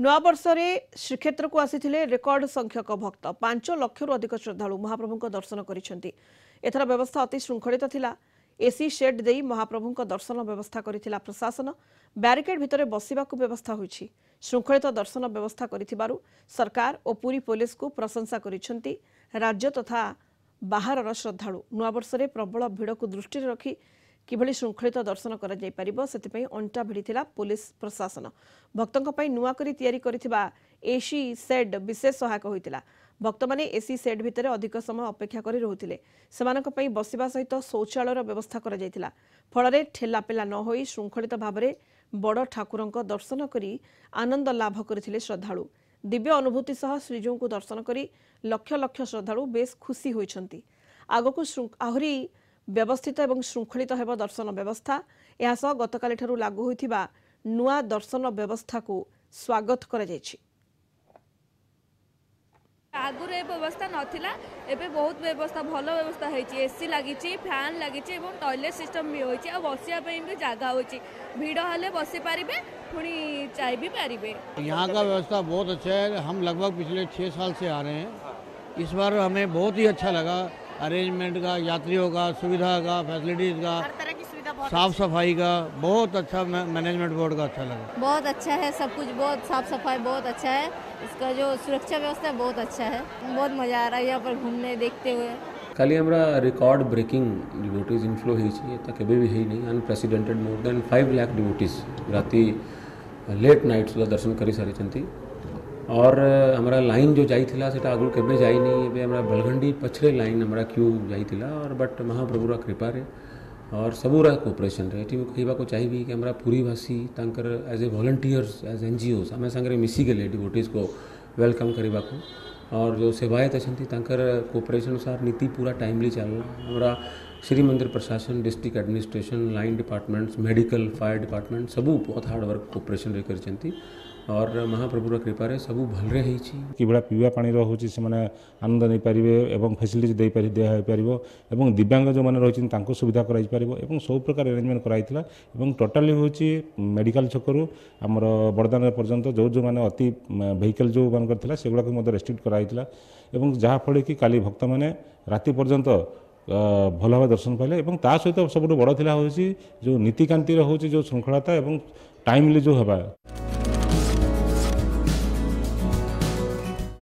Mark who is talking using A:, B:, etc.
A: ନୂଆବର୍ଷରେ ଶ୍ରୀକ୍ଷେତ୍ରକୁ ଆସିଥିଲେ ରେକର୍ଡ ସଂଖ୍ୟକ ଭକ୍ତ। 5 ଲକ୍ଷରୁ ଅଧିକ ଶ୍ରଦ୍ଧାଳୁ ମହାପ୍ରଭୁଙ୍କ ଦର୍ଶନ କରିଛନ୍ତି। ଏଥର ବ୍ୟବସ୍ଥା ଅତି ଶୃଙ୍ଖଳିତ ଥିଲା। ଏସି ସେଡ୍ ଦେଇ ମହାପ୍ରଭୁଙ୍କ ଦର୍ଶନ ବ୍ୟବସ୍ଥା କରିଥିଲା ପ୍ରଶାସନ। ବ୍ୟାରିକେଡ୍ ଭିତରେ ବସିବାକୁ ବ୍ୟବସ୍ଥା ହୋଇଛି। ଶୃଙ୍ଖଳିତ ଦର୍ଶନ ବ୍ୟବସ୍ଥା କରିଥିବାରୁ ସରକାର ଓ ପୁରୀ ପୋଲିସକୁ ପ୍ରଶଂସା କରିଛନ୍ତି ରାଜ୍ୟ ତଥା ବାହାରର ଶ୍ରଦ୍ଧାଳୁ। ନୂଆବର୍ଷରେ ପ୍ରବଳ ଭିଡ଼କୁ ଦୃଷ୍ଟିରେ ରଖି କିଭଳି ଶୃଙ୍ଖଳିତ ଦର୍ଶନ କରାଯାଇପାରିବ, ସେଥିପାଇଁ ଅଣ୍ଟା ଭିଡ଼ିଥିଲା ପୋଲିସ ପ୍ରଶାସନ। ଭକ୍ତଙ୍କ ପାଇଁ ନୂଆ କରି ତିଆରି କରିଥିବା ଏସି ସେଡ୍ ବିଶେଷ ସହାୟକ ହୋଇଥିଲା। ଭକ୍ତମାନେ ଏସି ସେଡ୍ ଭିତରେ ଅଧିକ ସମୟ ଅପେକ୍ଷା କରି ରହୁଥିଲେ। ସେମାନଙ୍କ ପାଇଁ ବସିବା ସହିତ ଶୌଚାଳୟର ବ୍ୟବସ୍ଥା କରାଯାଇଥିଲା। ଫଳରେ ଠେଲାପେଲା ନ ହୋଇ ଶୃଙ୍ଖଳିତ ଭାବରେ ବଡ଼ ଠାକୁରଙ୍କ ଦର୍ଶନ କରି ଆନନ୍ଦ ଲାଭ କରିଥିଲେ ଶ୍ରଦ୍ଧାଳୁ। ଦିବ୍ୟ ଅନୁଭୂତି ସହ ଶ୍ରୀଜୀଉଙ୍କୁ ଦର୍ଶନ କରି ଲକ୍ଷ ଲକ୍ଷ ଶ୍ରଦ୍ଧାଳୁ ବେଶ୍ ଖୁସି ହୋଇଛନ୍ତି। ଆଗକୁ ଆହୁରି ବ୍ୟବସ୍ଥିତ ଏବଂ ଶୃଙ୍ଖଳିତ ହେବ ଦର୍ଶନ ବ୍ୟବସ୍ଥା। ଏହାସହ ଗତକାଲିଠାରୁ ଲାଗୁ ହୋଇଥିବା ନୂଆ ଦର୍ଶନ ବ୍ୟବସ୍ଥାକୁ ସ୍ୱାଗତ କରାଯାଇଛି।
B: ଆଗରୁ ଏ ବ୍ୟବସ୍ଥା ନଥିଲା। ଏବେ ବହୁତ ବ୍ୟବସ୍ଥା, ଭଲ ବ୍ୟବସ୍ଥା ହେଇଛି। ଏସି ଲାଗିଛି, ଫ୍ୟାନ୍ ଲାଗିଛି ଏବଂ ଟଏଲେଟ୍ ସିଷ୍ଟମ୍ ବି ହୋଇଛି ଆଉ ବସିବା ପାଇଁ ବି ଜାଗା ହୋଇଛି। ଭିଡ଼ ହେଲେ ବସିପାରିବେ, ପୁଣି ଯାଇ ବି ପାରିବେ।
C: यहाँ का व्यवस्था बहुत अच्छा है। हम लगभग पिछले 6 साल से आ रहे हैं। इस बार हमें बहुत ही अच्छा लगा, अरेंजमेंट का, यात्रियों का, सुविधा का, फैसिलिटीज़ का,
D: हर तरह की सुविधा बहुत।
C: साफ सफाई का बहुत अच्छा मैनेजमेंट बोर्ड का अच्छा लगा।
E: बहुत अच्छा है सब कुछ, बहुत साफ सफाई बहुत अच्छा है। इसका जो सुरक्षा व्यवस्था है, बहुत अच्छा है। बहुत मज़ा आ रहा है यहाँ पर घूमने, देखते हुए।
F: କାଲି ଆମର ରେକର୍ଡ ବ୍ରେକିଂ ଡିଭୋଟିଜ୍ ଇନଫ୍ଲୋ ହେଇଛି। ଏଟା କେବେ ବି ହେଇନି। Unprecedented, more than 5 lakh devotees ରାତି ଲେଟ୍ ନାଇଟ୍ ସୁଦ୍ଧା ଦର୍ଶନ କରିସାରିଛନ୍ତି। और ଆମର ଲାଇନ୍ ଯେଉଁ ଯାଇଥିଲା, ସେଟା ଆଗରୁ କେବେ ଯାଇନି। ଏବେ ଆମର ବେଲଘଣ୍ଡି ପଛରେ ଲାଇନ୍ ଆମର କ୍ୟୁ ଯାଇଥିଲା। और ବଟ୍ ମହାପ୍ରଭୁର କୃପାରେ और ସବୁର କୋଅପରେସନ୍ରେ, ଏଠି ମୁଁ କହିବାକୁ ଚାହିଁବି କି ଆମର ପୁରୀବାସୀ ତାଙ୍କର as a volunteers, as NGOs ଆମେ ସାଙ୍ଗରେ ମିଶିଗଲେ ଡିଭୋଟିଜ୍କୁ welcome କରିବାକୁ और ଯେଉଁ ସେବାୟତ ଅଛନ୍ତି, ତାଙ୍କର କୋଅପରେସନ୍ ଅନୁସାର ନୀତି ପୁରା ଟାଇମଲି ଚାଲିଲା। ଆମର ଶ୍ରୀମନ୍ଦିର ପ୍ରଶାସନ, district administration, line departments, medical, fire department ସବୁ ବହୁତ ହାର୍ଡ଼ୱାର୍କ କୋଅପରେସନ୍ରେ କରିଛନ୍ତି और ମହାପ୍ରଭୁର କୃପାରେ ସବୁ ଭଲରେ ହେଇଛି।
G: କିଭଳିଆ ପିଇବା ପାଣିର ହେଉଛି, ସେମାନେ ଆନନ୍ଦ ନେଇପାରିବେ ଏବଂ ଫେସିଲିଟି ଦିଆହେଇପାରିବ ଏବଂ ଦିବ୍ୟାଙ୍ଗ ଯେଉଁମାନେ ରହିଛନ୍ତି, ତାଙ୍କୁ ସୁବିଧା କରାଯାଇପାରିବ ଏବଂ ସବୁ ପ୍ରକାର ଆରେଞ୍ଜମେଣ୍ଟ କରାଯାଇଥିଲା। ଏବଂ ଟୋଟାଲି ହେଉଛି ମେଡ଼ିକାଲ ଛକରୁ ଆମର ବଡ଼ଦାଣ୍ଡ ପର୍ଯ୍ୟନ୍ତ ଯେଉଁ ଯେଉଁମାନେ ଅତି ଭେହିକଲ୍ ଯେଉଁମାନଙ୍କର ଥିଲା, ସେଗୁଡ଼ାକୁ ମଧ୍ୟ ରେଷ୍ଟ୍ରିକ୍ଟ କରାଯାଇଥିଲା ଏବଂ ଯାହାଫଳରେ କି କାଲି ଭକ୍ତମାନେ ରାତି ପର୍ଯ୍ୟନ୍ତ ଭଲ ଭାବେ ଦର୍ଶନ ପାଇଲେ। ଏବଂ ତା ସହିତ ସବୁଠୁ ବଡ଼ ଥିଲା ହେଉଛି ଯେଉଁ ନୀତିକାନ୍ତିର ହେଉଛି ଯେଉଁ ଶୃଙ୍ଖଳତା ଏବଂ ଟାଇମଲି ଯେଉଁ ହେବା।